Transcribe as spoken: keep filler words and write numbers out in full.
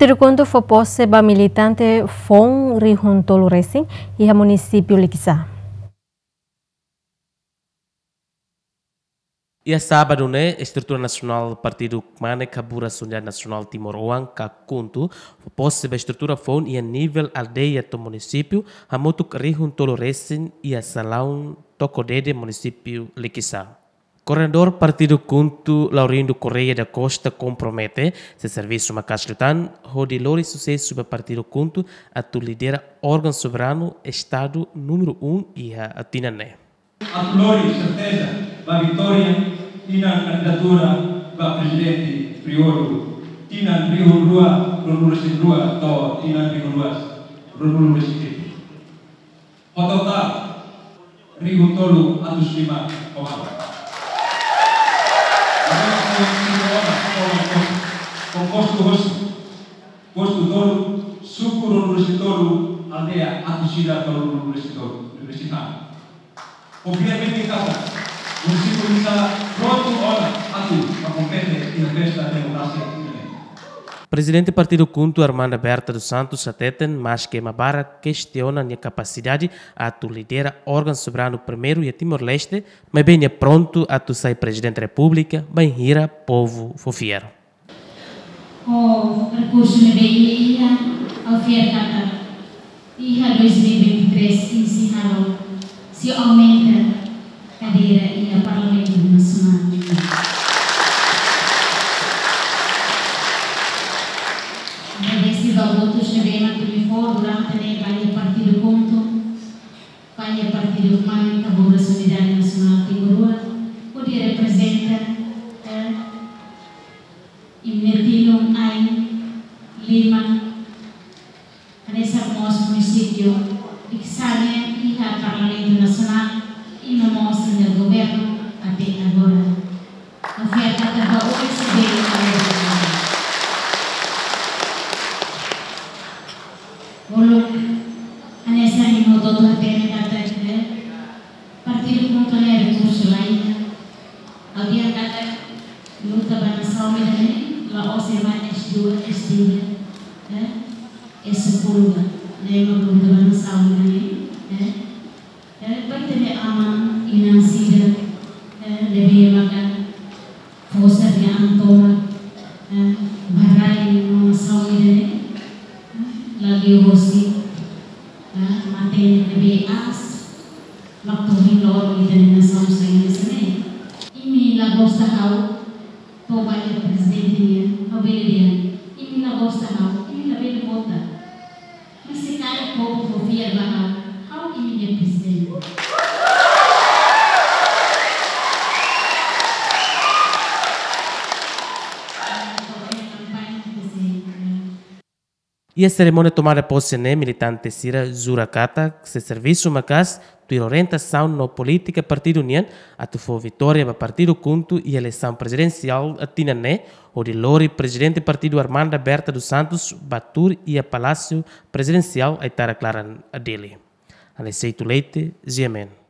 Partidu KHUNTO fó pose ba militante foun rihun tolu resin iha munisípiu Likisá. Iha sábadu ne'e, estrutura nasionál Partidu Kmanek Haburas Unidade Nasionál Timor Oan ka KHUNTO fó pose ba estrutura foun iha nivel aldeia to'o munisípiu, hamutuk rihun tolu resin iha salaun Toko Dede, munisípiu Likisá. Koordenadór Partidu KHUNTO, Laurindo Correia da Costa, kompromete sei servisu maka'as liután hodi lori susesu ba Partidu KHUNTO atu lidera órgaun soberanu Estadu númeru um iha tinan ne'e. Atu lori serteza ba vitória iha kandidatura ba prezidente períodu tinan rihun rua ruanulu-resin-rua to'o tinan rihun rua ruanulu-resin-hitu. Ho totál rihun tolu atus lima koma. Agora, ho postu hosi, postu tolu, suku ruanulu-resin-tolu, aldeia atus ida tolunulu-resin-tolu, universitáriu. Obviamente, katak munisípiu Likisá prontu ona atu kompete iha festa demokrasia ida-ne'e. Prezidente Partidu KHUNTO, Armanda Berta dos Santos, hateten, maske ema barak kestiona nia kapasidade atu lidera órgaun soberanu primeiru iha Timor-Leste, maibé nia prontu atu sai Prezidente Repúblika bainhira povu fó fiar. Ho rekursu ne'ebé imi iha, ha'u fiar katak iha dois mil e vinte e três imi sei halo, sei aumenta kadeira iha Parlamentu Nasionál. Agradese ba votus ne'ebé mak imi fó durante ne'e ba iha Partidu KHUNTO, ba iha Partidu Kmanek Haburas Unidade Nasionál Timor Oan, hodi reprezenta, eh, imi-nia tilun, ain, liman, hanesan mós munisípiu Likisá nian iha Parlamentu Nasionál, i no mós iha governu até agora. Oferta ba O E C D. Uluk, hanesan imi hotu-hotu hatene katak, eh, Partidu KHUNTO ne'e rekursu la iha. Ha'u dehan katak luta ba nasaun ida-ne'e, la'ós ema S dua, S tiga, eh, S sepuluh ba. Ne'e mak luta ba nasaun ida-ne'e, eh. Eh, ba ita-nia aman-inan sira, eh, ne'ebé maka fó sira-nia an tomak, eh, ba rai no nasaun ida-ne'e, eh, la liu hosi, eh, matenek ne'ebé aas, mak to'o ohin loron ita-nia nasaun sai hanesan ne'e. Imi la gosta ha'u, to'o ba iha prezidente nian, ha'u bele dehan, imi la gosta ha'u, imi labele vota. Mas se karik povu fó fiar ba ha'u, ha'u imi-nia prezidente. Iha serimónia tomada pose ne'e, militante sira jura katak sei servisu maka'as tuir orientasaun no polítika partidu nian atu fó vitória ba Partidu KHUNTO iha eleisaun prezidensiál tinan ne'e, hodi lori Prezidente Partidu Armanda Berta dos Santos ba tuur iha Palásiu Prezidensiál Aitarak Laran, Dili. Aniceto Leite, G M N.